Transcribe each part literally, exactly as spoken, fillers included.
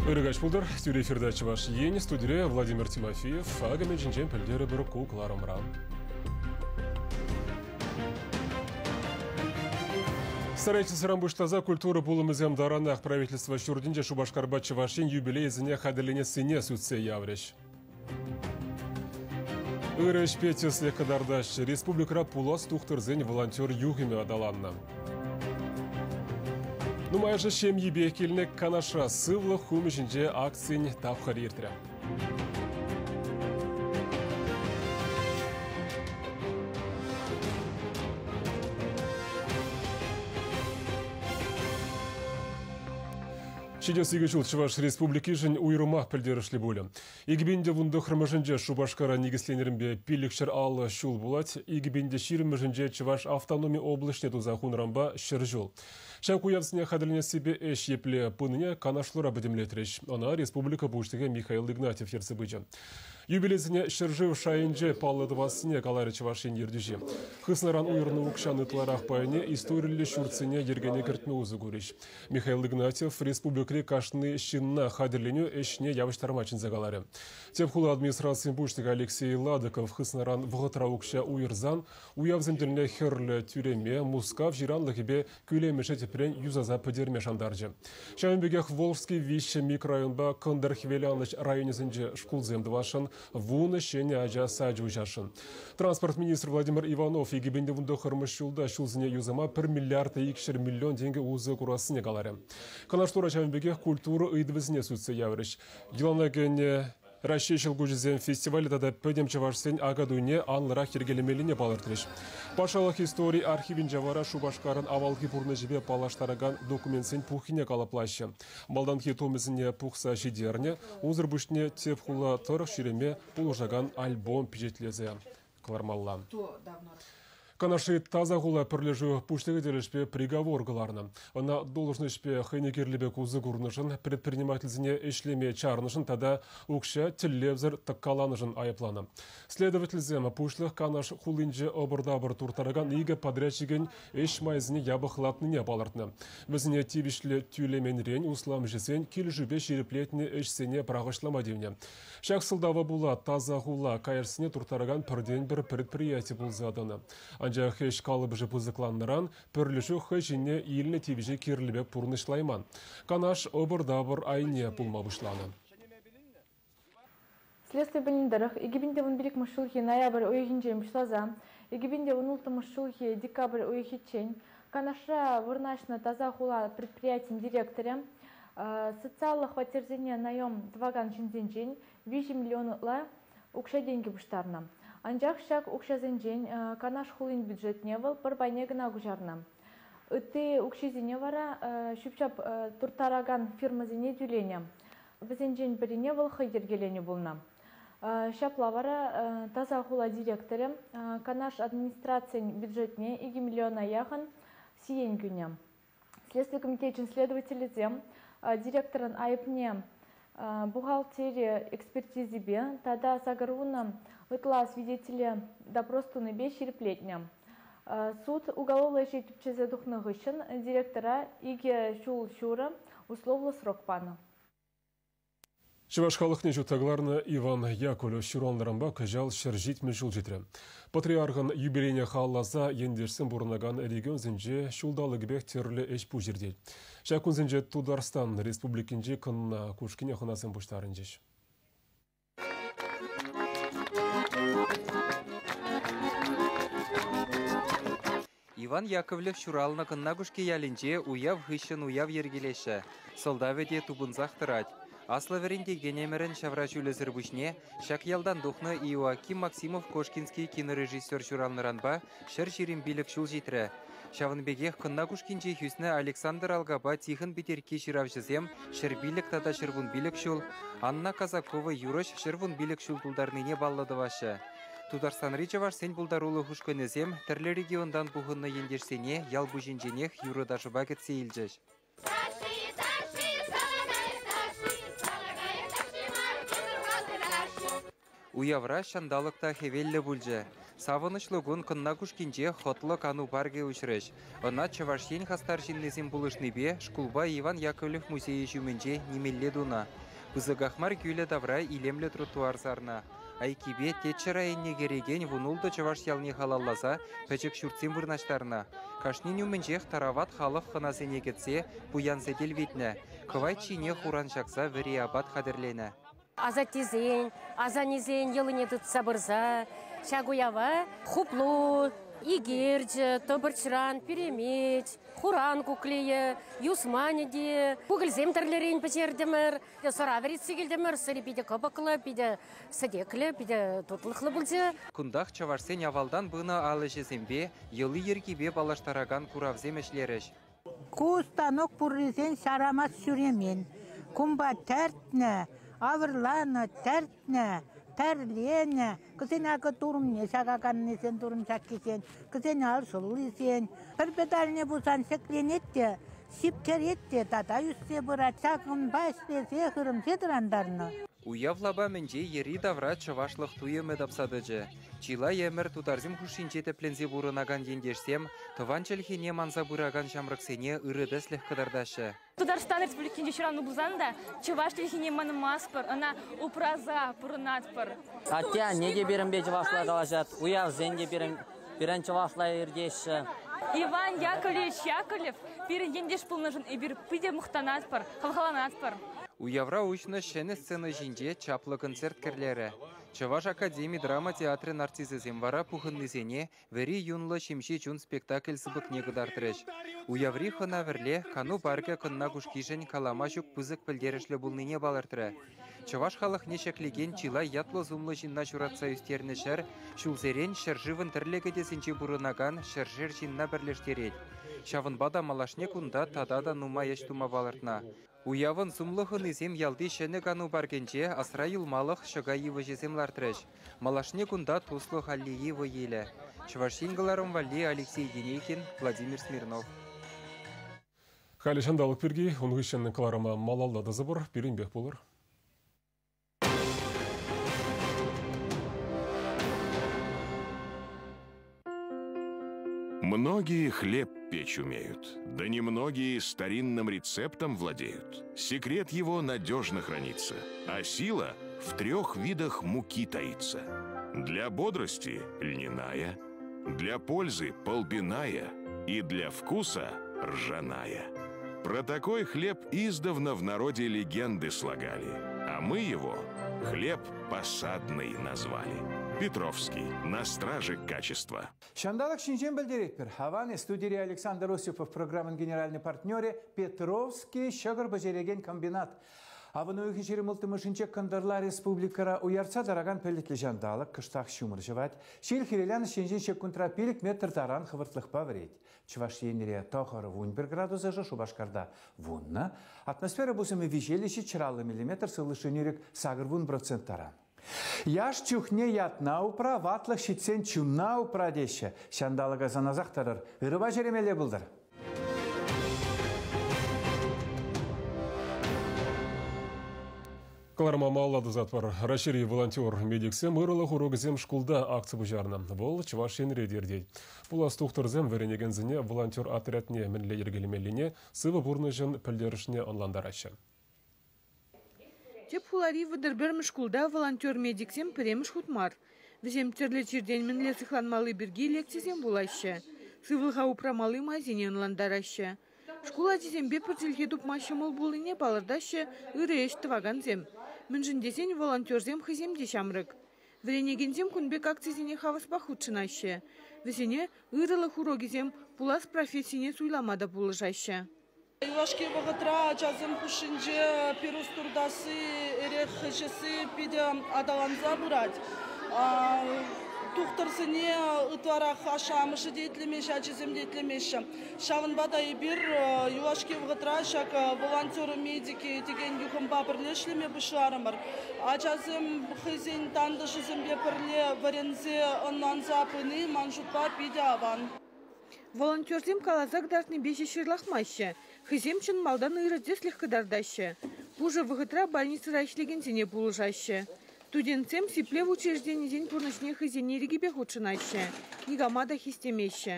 Ырыгач пулдыр, тӳре эфирда Чӑваш Ен, студире Владимир Тимофеев, агымен жинчен пілдері бір кукларымран. Старайтесь буштаза культура пулымызем даранах правительство шурдинче Шубашкарба Чӑваш Ен юбилейзіне хадырлене сыне сүтсе явреш. Ырыш петесле кадардаш республикара пулас тухтырзен волонтер юхиме адаланна. Нумайжы шемьебе келіне канаша сывлы хумышынже акцин тапхар ертірі. Шидесігі жыл Чӑваш Республикишін уйрымах пілдерішлі бөлі. Егібенде вунды хырмышынже Шубашкара негісленерінбе пилікшір алы шул булат, егібенде ширімішінже Чӑваш автономия облышне туза хунрамба шыр жол. Шак уявсыне хадырлене себе эш епле пыныне канашлыра бідімлетреш. Ана Республика Буштыге Михаил Игнатьев ерсі быджы. Юбилейсіне шыржыв шайынже паллыдывасыне калары Чӑваш Ен ердюжи. Хыснаран уйрны укшаны тларах пайне историлі шурцыне ергене кіртме узы көреш. Михаил Игнатьев республикре кашны щинна хадырленю эшне явыштармачин загалары. Тепхула администрации Буштыга Алексей Ладыков хыснаран вғытра укша уйрзан уявземдеріне херлі тюреме мускав жиранлығыбе күлемеше тепрен юзаза пөдерме шандаржы. Шамбегех Волжский вище микрорайонба Кындыр Хвеляныч районесінже шкулземдывашын вуны шене ажа саджу жашын. Транспорт министр Владимир Иванов егібенде вунды хырмыш жулда шулзіне юзама бір миллиард икшер миллион теңге узы курасыне калары. Канаштура Шамбегех культура ыйдывізіне сүтсе яврыш. Еланагене Россия шылгужызен фестивалі тада пөдем чавашсен агадуне анлырақ ергелемеліне балыртырыш. Пашалық истории архивин жавара Шубашкарын авалхи пурны жібе палаштараган документсен пухине калаплашы. Малданхи томызіне пухса жидерне, узыр бүшіне тепхула тұрық ширеме пулыжаган альбом пижетлезе. Клармалла. Канаши таза хула пірлежу пуштығы делешпе приговор кыларны. Она должнышпе хынекерлебе кузы курнышын, предпринимательзіне ишлеме чарнышын, тада укша телевзір тыққаланышын айыпланы. Следовательзем пушлық канаш хулинче обырдабыр туртараган игі подрядчиген еш майзіне ябықлатныне балыртны. Бізіне тивишлі тюлеменрен услам жесен келжүбе шереплетіне эшсене прағышлама девне. Шақ сылдава була таза хула кайырсыне туртараган бірден бір предприятие бұлзадыны. Анжақ еш қалып жыпызықланныран, пірлішу хыжине еліне тивіже керлібе пурнышлайман. Канаш обыр-дабыр айне пулмабышланы. Следствие біліндіріх, егібінде он билік мұшылхи ноябрь ойхинчен бұшлаза, егібінде он улты мұшылхи декабрь ойхичен, Канаша вырнашна таза хула предприятием директоре, социаллық хватерзене наем дваган чинзенчен, виҫӗ миллионла укша деньги бұштарна. Анжақ шак укшазенчен канаш хулин бюджетне выл пір байне гына гужарна. Үтті укшизене вара шүпшап туртараган фирмазене тюлене. Візенчен біріне выл хыйдергелене болна. Шапла вара таза хула директоры канаш администрациян бюджетне екі миллиона яхын сиен күне. Следствие комитетчин следователи зем директорын айыпне бухгалтерия экспертизибе тада сагаруна вытла свидетеля допрос туныбе шереплетня. Суд уголовлы жетіпчезе духнығышын директора иге шул шура условлы срок паны. Чӑваш халӑхне ҫутагларнӑ Иван Яковлев ҫуралнӑранпа кӑҫал ҫӗр ҫитмӗл ҫул ҫитрӗ. Патриархӑн юбилейне халласа ендешсем пурӑнакан регионсенче ҫулталӑкӗпех тӗрлӗ ӗҫ пуҫ иртет. Ҫак кунсенче Тутарстан Республикинче кӑнна Кушкине хӑнасем пуҫтарӑнчӗҫ. Иван Яковлев ҫуралнӑ кӑнна Кушки ялӗнче уяв хыҫҫӑн уяв йӗркелеҫҫӗ. Сӑлтавӗ те тупӑнсах тӑрать. Аслы вӗрентекен ӗмӗрӗн ҫавра ҫулӗсӗр пуҫне ҫак ялтан тухнӑ Иоаким Максимов Кошкинский кинорежиссер ҫуралнӑранпа ҫӗр ҫирӗм пилӗк ҫул ҫитрӗ. Ҫавӑн пекех кӑнна Кушкинче хӳснӗ Александр Алгапа Тихон Питерки ҫыравҫӑсем ҫӗр пилӗк тата ҫӗр вун пилӗк ҫул, Анна Казакова юрӑҫ ҫӗр вун пилӗк ҫул тултарнине паллӑ тӑваҫҫӗ. Тутарстанри чӑвашсен пултарулӑх ушкӑнӗсем тӗрлӗ регионтан пухӑннӑ ентешсене ял пуҫӗнченех юрӑ ташӑпа кӗтсе илчӗҫ. Уявра ҫанталӑк та хӗвеллӗ пулчӗ. Савӑнӑҫлӑ кун Кӑнна Кушкинче хӑтлӑ кану паркӗ уҫрӗҫ. Ӑна Чӑваш Ен хастар ҫыннисем пулӑшнипе шкулпа Иван Яковлев музейӗ ҫумӗнче нимелле тунӑ. Пысӑках мар кӳлӗ тавра илемлӗ тротуар сарнӑ. Айккипе Теччӗ районне кӗрекен вунултӑ чӑваш ялне халалласа пӗчӗк ҫуртсем вырнаҫтарнӑ. Кашнин умӗнчех тарават халӑх хӑнасене кӗтсе пуян сӗтел витнӗ. Кӑвайт ҫине хуран ҫакса вӗри апат хатӗрленӗ. Асаттесен, асаннесен йӑлине тытса пырса ҫак уява хуплу, икерчӗ, тӑпӑрчран, пӳремеч, хуран куклийӗ, юсманӗ те, кукӑльсем тӗрлӗрен пӗҫертӗмӗр, сӑра вӗретсе килтӗмӗр, сӑри питӗ кӑпӑклӑ, питӗ сӗтеклӗ, питӗ тутлӑхлӑ пулчӗ. Кунтах чӑвашсен авалтан пынӑ ал ӗҫӗсемпе, йӑли-йӗркипе паллаштаракан куравсем ӗҫлерӗҫ. Ку станок пуррисен ҫарамас ҫӳремен. Кумпа тӗртнӗ, авӑрланӑ, тӗртнӗ, тӗрленӗ. Кӗсен акӑ турӑмне ҫакаканнисен, турӑм ҫаккисен, кӗсен ал шӑллисен. Пӗр педальне пулсан ҫӗкленет те, ҫип кӗрет те, тата ӳссе пырать. Ҫакӑнпа ӗҫлесе хырӑмсе тӑрантарнӑ. Уяв лапамӗнче йӗри-тавра чӑвашлӑх туйӑмӗ тапса тӑчӗ. Чылай ӗмӗр тутарсем хушшинче тӗпленсе пурӑнакан ентешсем тӑван чӗлхене манса пыракан ҫамрӑксене ырӑ тӗслӗх кӑтартаҫҫӗ. Тутарстан Республикинче ҫуралнӑ пулсан та чӑваш чӗлхине манмастпӑр, ӑна упраса пурӑнатпӑр. Атте-анне те пирӗнпе чӑвашла калаҫать, уявсем те пирӗн, пирӗн чӑвашла иртеҫҫӗ. Иван Яковлевич Яковлев пирӗн ентеш пулнӑшӑн эпир питӗ мухтанатпӑр, хавхаланатпӑр. Уявра уҫнӑ ҫӗнӗ сцена ҫинче чаплӑ концерт кӗрлерӗ. Чӑваш академи драма театрӗн артисчӗсем вара пухӑннисене вӗри юнлӑ ҫемҫе чун спектакль сыпӑкне кӑтартрӗҫ. Уяври хӑна вӗрле кану паркӗ Кӑнна Кушкишӗн калама ҫук пысӑк пӗлтерӗшлӗ пулнине палӑртрӗ. Чӑваш халӑхне ҫӗклекен чылай ятлӑ-сумлӑ ҫынна ҫуратса ӳстернӗ ҫӗр ҫулсерен ҫӗршывӑн тӗрлӗ кӗтесӗнче пурӑнакан ҫӗршер ҫынна пӗрлештерет. Ҫавӑнпа та малашне кунта тата та нумай ӗҫ тума палӑртнӑ. Уявӑн сумлӑ хӑнисем ялти ҫӗнӗ кану паркӗнче асра юлмалӑх ҫӑка йывӑҫӗсем лартрӗҫ. Малашне кунта туслӑх аллейи вӑй илӗ. Чӑваш Ен кӑларӑм валли Алексей Енейкин, Владимир Смирнов. Халӗ ҫанталӑк пирки ун хыҫҫӑн кӑларӑма малалла тӑсӑпӑр, пирӗнпех пулӑр. Многие хлеб печь умеют, да немногие старинным рецептом владеют. Секрет его надежно хранится, а сила в трех видах муки таится. Для бодрости льняная, для пользы полбиная и для вкуса ржаная. Про такой хлеб издавна в народе легенды слагали, а мы его хлеб посадный назвали. Петровский. На страже качества. Ҫанталӑк ҫинчен пӗлтеретпӗр. Хаван студире Александр Осипов программӑн генеральный партнерӗ Петровский ҫӑкӑр пӗҫерекен комбинат. Авӑн уйӑхӗн ҫирӗм улттӑмӗшӗнче кӑнтӑрла республикӑра уяртса тӑракан пӗлӗтлӗ ҫанталӑк кӑштах ҫумӑр ҫӑвать. Ҫил хӗвеланӑҫ енчен ҫеккунтра пилӗк метр таран хӑвӑртлӑхпа вӗрет. Чӑваш Енре тӑхӑр вун пӗр градус ӑшӑ, Шупашкарта вуннӑ. Атмосфера пусӑмӗ виҫеллӗ ҫичҫӗр аллӑ миллиметр, сывлӑш нӳрӗк сакӑр вун процент таран. Яш чухне ятна упра, ватлӑх ҫитсен чунна упра теҫҫӗ. Ҫанталӑка сӑнасах тӑрӑр. Ырӑпа ҫӳремелле пултӑр. Кӑларӑма малалла тӑсатпӑр. Раҫҫейри волонтер медиксем ырӑлӑх урокӗсем шкулта акци пуҫарнӑ. Вӑл Чӑваш Енре те иртет. Пулас тухтӑрсем вӗренекенсене волонтер отрядне мӗнле йӗркелемеллине, сывӑ пурнӑҫӑн пӗлтерӗшне ӑнлантараҫҫӗ. Тӗп хулари вӑтӑр пӗрмӗш шкулта волонтер медиксем пӗрремӗш хут мар. Вӗсем тӗрлӗ чиртен мӗнле сыхланмалли пирки лекцисем вулаҫҫӗ. Сывлӑха упрамалли майсене ӑнлантараҫҫӗ. Шкул ачисемпе пӗр чӗлхе тупма ҫӑмӑл пулнине палӑртаҫҫӗ ырӑ ӗҫ тӑвакансем. Мӗншӗн тесен волонтерсем хӑйсем те ҫамрӑк. Вӗренекенсем кун пек акцисене хаваспах хутшӑнаҫҫӗ. Вӗсене ырӑлӑх урокӗсем пулас профессине суйлама та пулӑшаҫҫӗ. Юлашки вӑхӑтра ачасем хушшинче пирус туртасси, эрех ӗҫесси питӗ аталанса пырать. Тухтӑрсене ытларах ашшӗ-амӑшӗ те итлемеҫҫӗ, ачисем те итлемеҫҫӗ. Ҫавӑнпа та эпир юлашки вӑхӑтра ҫак волонтер медики текен юхӑмпа пӗрле ӗҫлеме пуҫларӑмӑр. Ачасем хӑйсен тантӑшӗсемпе пӗрле вӗренсе ӑнланса пыни ман шутпа питӗ аван. Волонтерсем каласа кӑтартнипе ҫеҫ ҫырлахмаҫҫӗ. Хӑйсем чӑн малтан ырӑ тӗслӗх кӑтартаҫҫӗ. Пушӑ вӑхӑтра больницӑра ӗҫлекенсене пулӑшаҫҫӗ. Студентсем сиплев учрежденисен пурнӑҫне хӑйсен ирӗкӗпе хутшӑнаҫҫӗ, никама та хистемеҫҫӗ.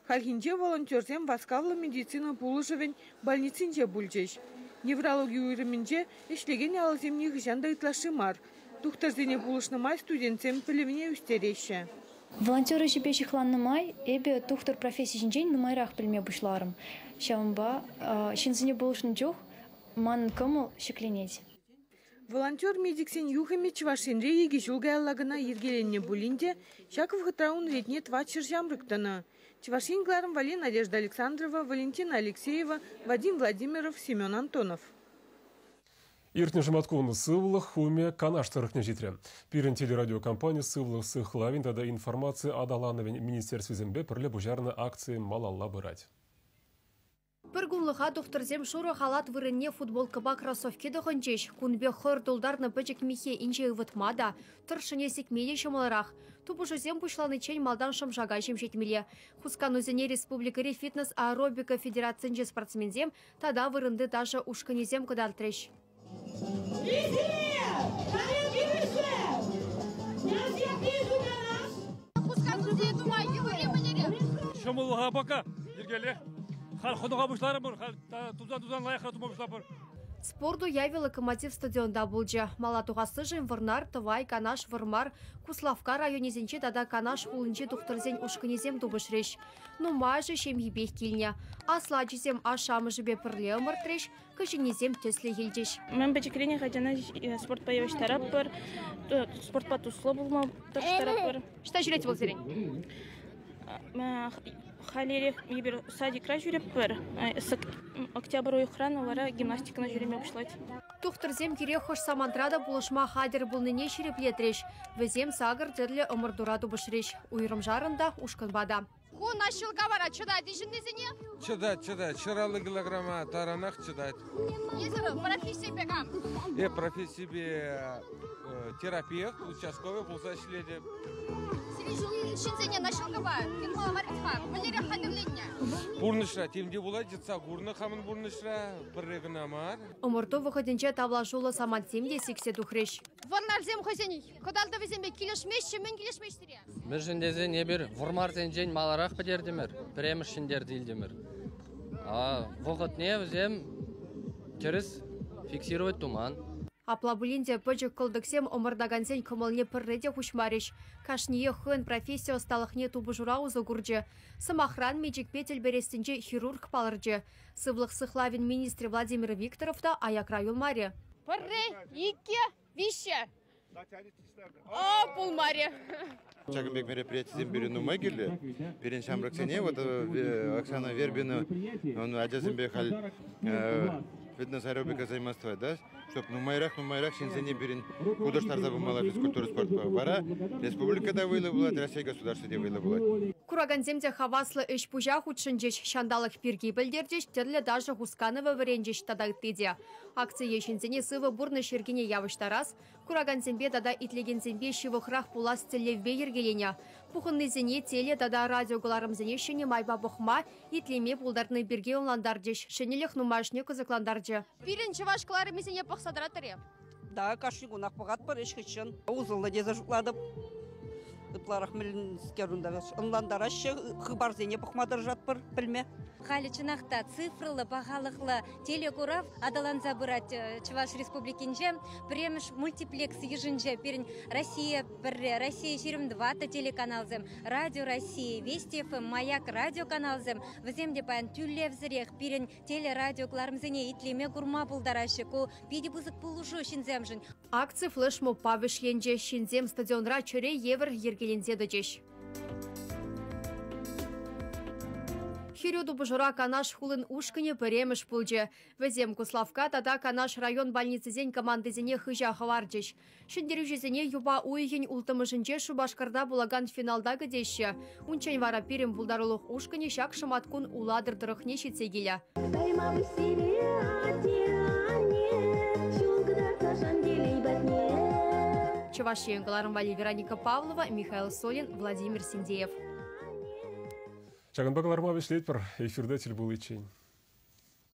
Хальхинче волонтерсем васкавлӑ медицина пулӑшӑвӗн больницинче пулчӗҫ. Неврологи уйрӑмӗнче ӗҫлекен алӑсем нихӑҫан та ытлашши мар. Тухтӑрсене пулӑшнӑ май студентсем пӗлӗвне ӳстереҫҫӗ. Волонтер ӗҫӗпе ҫыхланнӑ май эпӗ тухтӑр професси ҫинчен нумайрах пӗлме пуҫларӑм. Ҫавӑнпа ҫынсене пулӑшнӑ чух манӑн кӑмӑл ҫӗкленет. Волонтер-медиксен юхӑмӗ Чӑваш Енре икӗ ҫул каялла кӑна йӗркеленнӗ пулин те, ҫак вӑхӑтра ун ретне тӑватҫӗр ҫамрӑк тӑнӑ. Чӑваш Ен кӑларӑм валли Надежда Александрова, Валентина Алексеева, Вадим Владимиров, Семен Антонов. Иртнӗ шӑматкун сывлӑх хумӗ Канаш тӑрӑхне ҫитрӗ. Пирӗн телерадиокомпани сывлӑх сыхлавӗн тата информаци аталанӑвӗн министерствисемпе пӗрле пуҫарнӑ акци малалла пырать. Пӗр кунлӑха тухтӑрсем шурӑ халат вырӑнне футболкӑпа кроссовки тӑхӑнчӗҫ. Кун пек хӑр тултарнӑ пӗчӗк миххе инҫе ывӑтма та, тӑршшӗне сикме те ҫӑмӑлрах. Тупӑшусем пуҫланиччен малтан шӑмшака ҫемҫетмелле. Хусканусене республикӑри фитнес-аэробика федерацинчи спортсменсем тата вырӑнти ташӑ ушкӑнӗсем кӑтартрӗҫ. Ҫӑмӑллӑха пока йӗркеллех. Халь хӑнӑха пуҫларӑмӑр, халь тузан-тузан лайӑхра тума пуҫлапӑр. Спорт уявӗ Локомотив стадионта пулчӗ. Мала тухассишӗн Вӑрнар, Тӑвай, Канаш, Вӑрмар, Куславкка районӗсенче тата Канаш хулинчи тухтӑрсен ушкӑнӗсем тупӑшрӗҫ. Нумайӑшӗ ҫемйипех килнӗ. Аслӑ ачисем ашшӗ-амӑшӗпе пӗрле ӑмӑртрӗҫ, кӗҫӗннисем тӗслӗх илчӗҫ. Мӗн пӗчӗкрен ачана спортпа явӑҫтаратпӑр, спортпа туслӑ пулма тӑрӑштаратпӑр. Ӑҫта ҫӳрет вӑл сирӗн? Халерех эпир садикра ҫӳретпӗр. Октябрь уйӑхран вара гимнастикӑна ҫӳреме пуҫлать. Тухтӑрсем кире хӑш самантра та пулӑшма хатӗр пулнине ҫирӗплетрӗҫ. Вӗсем сакӑр тӗрлӗ ӑмӑртура тупӑшрӗҫ. Уйрӑмшарӑн та, ушкӑнпа та. Ку наҫҫӑлка вара чӑтать ҫыннисене? Чӑтать, чӑтать. Ҫӗр аллӑ килограмма таранах чӑтать. Эсир профессипе кам? Э, профессипе терапевт, участковый пулса ӗҫлетӗп. Ҫынсене наҫҫӑлкӑпа тытмалла мар-ха, мӗнлерех хатӗрленнӗ? Пурнӑҫра тем те пулать, йӑтса курнӑ хамӑн пурнӑҫра, пӗрре кӑна мар. Ӑмӑрту вӑхӑтӗнче тавлашуллӑ самантсем те сиксе тухрӗҫ. Вӑрнарсем хӑйсен кӑтартӑвӗсемпе килӗшмеҫҫӗ, мӗн килӗшмеҫҫӗ? Мӗншӗн тесен эпир вӑрмарсенчен маларах пӗтертӗмӗр, пӗрремӗш ҫӗнтерсе илтӗмӗр. Вӑхӑтне вӗсем тӗрӗс фиксировать туман. Апла пулин те пӗчӗк кӑлтӑксем ӑмӑртакансен кӑмӑлне пӗрре те хуҫмарӗҫ. Кашниех хӑйӗн професси ӑсталӑхне тупӑшура усӑ курчӗ. Сӑмахран, мечӗкпе тӗл перессинче хирург палӑрчӗ. Сывлӑх сыхлавӗн министрӗ Владимир Викторов та аякра юлмарӗ. Пӗрре, иккӗ, виҫҫӗ. О, пулмарӗ. Ҫакӑн пек мероприятисем пирӗн нумай кирлӗ. Пирӗн ҫамрӑксене, вот Оксана Вербина, ачасемпе халь фитнес-аэробика займаства, да, чтоб нумайрах-нумайрах ҫынсене пирӗн хутӑштарса пымалла физкультура спортпа. Вара республика та вӑйлӑ пулать, Россия государство те вӑйлӑ пулать. Куракансем те хаваслӑ ӗҫ-пуҫа хутшӑнчӗҫ, ҫанталӑк пирки пӗлтерчӗҫ, тӗрлӗ ташӑ хусканӑвӗ вӗренчӗҫ тата ытти те. Акцие ҫынсене сывӑ пурнӑҫ йӗркине явӑҫтарас, куракансемпе тата итлекенсемпе ҫывӑхрах пулас тӗллевпе йӗркеленӗ. Пухӑннисене теле тата радио кӑларӑмсене ҫӗнӗ майпа пӑхма, итлеме пултарни пирки ӑнлантарчӗҫ. Ҫӗнӗлӗх нумайӑшне кӑсӑклантарчӗ. Пирӗн чӑваш кӑларӑмӗсене пӑхса тӑратӑр-и? Да, кашни кунах пӑхатпӑр, ӗҫ хыҫҫӑн. Усӑллӑ тесе шутлатӑп. Ытларах мӗнскер унта ӑнлантараҫҫӗ, хыпарсене пӑхма тӑрӑшатпӑр, пӗлме. Халӗ чӑнах та цифрӑллӑ, пахалӑхлӑ телекурав аталанса пырать Чӑваш Республикинче. Пӗрремӗш мультиплекс йышӗнче пирӗн Россия пӗрре, Россия ҫирӗм тӑваттӑ телеканалсем, Радио Россия, Вести эф эм, Маяк радиоканалсем. Вӗсем те паян тӳлевсӗрех пирӗн телерадио кӑларӑмсене итлеме курма пултараҫҫӗ. Ку питӗ пысӑк пулӑшу ҫынсемшӗн. Акци флешмобпа вӗҫленчӗ. Ҫынсем стадионра чӗре евӗр йӗркеленсе тӑчӗҫ. Хӗрӳ тупӑшура Канаш хулин ушкӑнӗ пӗрремӗш пулчӗ. Вӗсем Куславкка тата Канаш район больницисен командисене хыҫа хӑварчӗҫ. Ҫӗнтерӳҫӗсене юпа уйӑхӗн улттӑмӗшӗнче Шупашкарта пулакан финалта кӗтеҫҫӗ. Унччен вара пирӗн пултарулӑх ушкӑнӗ ҫак шӑматкун Улатӑр тӑрӑхне ҫитсе килӗ. Чӑваш Ен кӑларӑм валли Вероника Павлова, Михаил Солин, Владимир Синдеев. Ҫакӑнпа кӑларма вӗҫлетпӗр. Эфирте тӗл пуличчен.